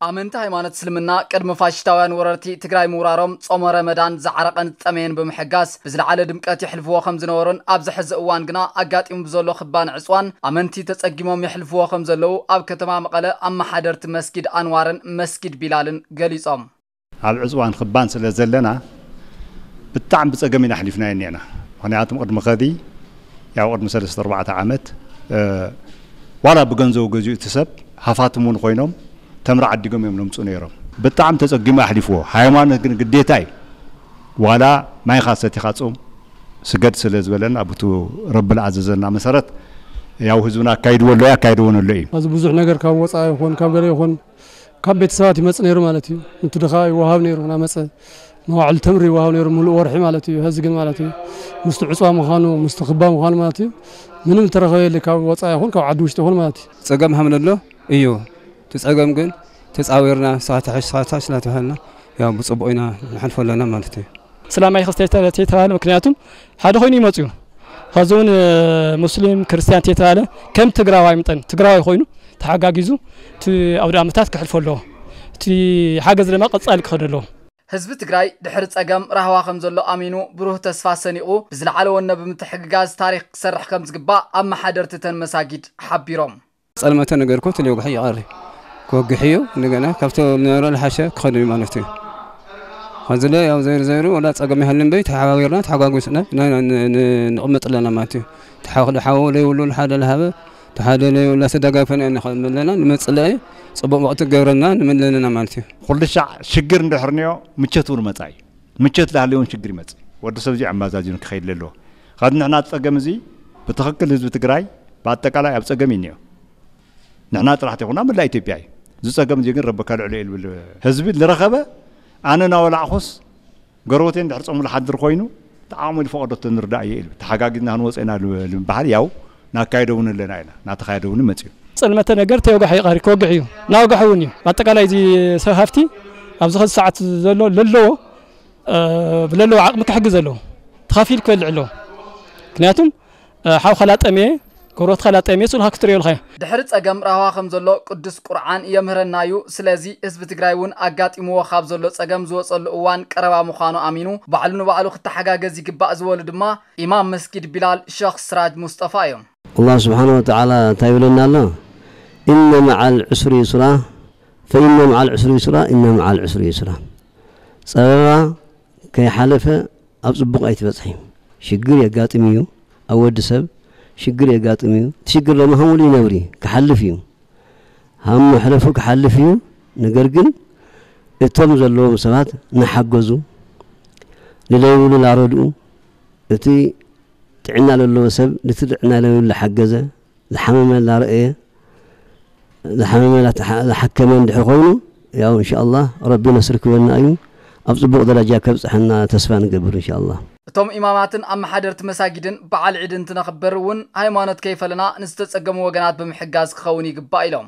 ኣመንቲ ሃይማኖት እስልምና ቅድሚ ፋሽስታውያን ወረርቲ ትግራይ ምውራሮም ጾመ ረመዳን ዝዓረቐን ዝጠመየን ብምሕጋስ ብዝለዓለ ድምቀት የሕልፍዎ ከም ዝነበሩን ኣብዚ ሕዚ እዋን ግና ኣጋጢሙ ብዘሎ ክባን ዕፅዋን ኣመንቲ ተጸጊሞም የሕልፍዎ ከም ዘለዉ ኣብ ከተማ መቐለ ኣመሓደርቲ መስጊድ ኣንዋርን መስጊድ ቢላልን ገሊጾም። ኣብ ዕፅዋን ክባን ስለ ዘለና ብጣዕሚ ብፀገም ኢና ኣሕሊፍናዮ እኒአና። ምክንያቱም ቅድሚ ከዚ ያው ቅድሚ ሰለስተ ኣርባዕተ ዓመት ዋላ ብገንዘቡ ገዚኡ እቲ ሰብ ሃፋትም እውን ኮይኖም ተምሪ ዓዲጎም እዮም ለምፁ ነይሮም። ብጣዕሚ ተፀጊሙ ኣሕሊፍዎ። ሃይማኖት ግን ግዴታ እዩ። ዋላ ማይኻ ሰቲኻ ፁም ስገድ ስለ ዝበለና ብቱ ረቢ ዝኣዘዘና መሰረት ያው ህዝብና ኣካይድዎ ኣሎ ኣካይድዎ ኣሎ እዩ። እዚ ብዙሕ ነገር ካብ ወፃኢ ይኹን ካብ ገለ ይኹን ካብ ቤተሰባት ይመጽእ ነይሩ ማለት እዩ። ንቱ ድኻ ይወሃብ ነይሩ ናመጸ መዋዕል ተምሪ ይወሃብ ነይሩ ሙሉእ ወርሒ ማለት እዩ። ሀዚ ግን ማለት እዩ ምስቲ ዕፅዋ ምዃኑ ምስቲ ክባ ምዃኑ ማለት እዩ ምንም ተረኸበ የለ ካብ ወፃኢ ይኹን ካብ ዓዲ ውሽጢ ይኹን ማለት እዩ። ጸገም ሃምለሎ እዩ። እቲ ጸገም ግን ተጻዊርና ንስኻ ትሕሽ ንስኻ ትሕሽ እናተባሃልና ያው ብጽቡቕ ኢና ንሓልፎ ኣለና ማለት እዩ። እስላማይ ክስተ ተተባለ ምክንያቱም ሓደ ኮይኑ ይመፅኡ ከዚ እውን ሙስሊም ክርስቲያን ተተባለ ከም ትግራዋይ ምጠን ትግራዋይ ኮይኑ ተሓጋጊዙ እቲ ኣውደ ኣመታት ክሕልፎ ኣለዎ። እቲ ሓገዝ ድማ ቀፃሊ ክኸደ ኣለዎ። ህዝቢ ትግራይ ድሕሪ ፀገም ራህዋ ከም ዘሎ ኣሚኑ ብሩህ ተስፋ ሰኒቑ ብዝለዓለ ወነ ብምትሕግጋዝ ታሪክ ክሰርሕ ከም ዝግባእ ኣመሓደርቲ ተን መሳጊድ ሓቢሮም። ጸልመተ ነገር እኮ ትልዮ ግሒ ይቐሪ ክወግሕ እዩ። እንደገና ካብቲ ዝነበረ ዝሓሸ ክኸድ እዩ ማለት እዩ። ከዚ ለ ያው ዘይሩ ዘይሩ ወላ ጸገም ይሃልን በይ ተሓባቢርና ተሓጓጉስና ንቕመጥ ኣለና ማለት እዩ። ተሓወ ሓወ ለይብሉ ሓደ ለሃበ ተሓደ ለይብሉ ተደጋፈና ንኸመለና ንመጽእ ለይ ጽቡቕ ወቕቲ ገብረና ንመለለና ማለት እዩ። ኩሉ ሻዕ ሽግር እንድሕር ንዮ ምቸት እውን መጻ እዩ። ምቸት ላሃለዮን ሽግር ይመጽእ። ወዲ ሰብ እዚ ኣመዛዚኑ ክኸይድ ለለዎ። ካብ ንሕና ጸገም እዚ ብትኽክል ህዝቢ ትግራይ ብኣጠቃላይ ኣብ ጸገም እዩ እኒኦ። ንሕና ጥራሕ ተይኮና መላእ ኢትዮጵያ እዩ። እዚ ጸገም እዚ ግን ረቢ ከልዕሎ እዩ ልብል ህዝቢ ዝረኸበ ኣነ እናወላዕኹስ ገረወተይ እንድሕር ጸሙ ዝሓድር ኮይኑ ተዓቕሙ ዝፈቐዶ ተንርዳእ እየ ኢሉ ተሓጋጊዝና ክንወፀ ኢና ልብሃል ያው ናካየደ እውን ኣለና ኢና ናተኻየደ እውን መፅኡ። ጸልመተ ነገር ተወጋሒ ይቐሪ ክወግሕ እዩ ናወጋሒ እውን እዩ ኣጠቃላይ እዚ ሰብ ሃፍቲ ኣብዚ ኸዚ ሰዓት ዘሎ ለለዎ ብለለዎ ዓቕሚ ክሕግዝ ኣለዎ ተኻፊል ክበልዕ ኣለዎ ምክንያቱም ሓው ከላጠምየ ጎረቤትካ ላጠምየ ስኡልካ ክትርእዮ ኢልካዮ። ድሕሪ ጸገም ራህዋ ከም ዘሎ ቅዱስ ቁርዓን የምህረና እዩ። ስለዚ ህዝቢ ትግራይ እውን ኣጋጢምዎ ካብ ዘሎ ጸገም ዝወጸሉ እዋን ቀረባ ምዃኑ ኣሚኑ ባዕሉ ንባዕሉ ክተሓጋገዝ ይግባእ ዝበሉ ድማ ኢማም መስጊድ ቢላል ሸኽ ስራጅ ሙስጠፋ እዮም። ኣላህ ስብሓነ ወተዓላ እንታይ ይብለና ኣሎ? ኢነ መዓል ዑስሪ ዩስራ ፈኢነ መዓል ዑስሪ ዩስራ ኢነ መዓል ዑስሪ ዩስራ። ጸበባ ከይሓለፈ ኣብ ጽቡቕ ኣይትበጽሒ። ሽግር የጋጥም እዩ ኣብ ወዲ ሰብ ሽግር የጋጥም እዩ። እቲ ሽግር ደማ ሃሙሉ ይነብር እዩ ክሓልፍ እዩ። ሃም መሕለፉ ክሓልፍ እዩ። ነገር ግን እቶም ዘለዎም ሰባት ናሓገዙ ንለይብሉ ላረድኡ እቲ ጥዕና ለለዎ ሰብ ነቲ ጥዕና ለብሉ ላሓገዘ ዝሓመመ ላረእየ ዝሓመመ ዝሓከመ እንድሕር ኮይኑ ያው እንሻኣላህ ረቢ ነስሪ ክበና እዩ ኣብ ፅቡቕ ደረጃ ከብፅሐና ተስፋ ንገብር እንሻኣላህ። እቶም ኢማማትን ኣመሓደርቲ መሳጊድን በዓል ዒድ እንትነኽብር እውን ሃይማኖት ከይፈለና ንዝተፀገሙ ወገናት ብምሕጋዝ ክኸውን ይግባእ ኢሎም።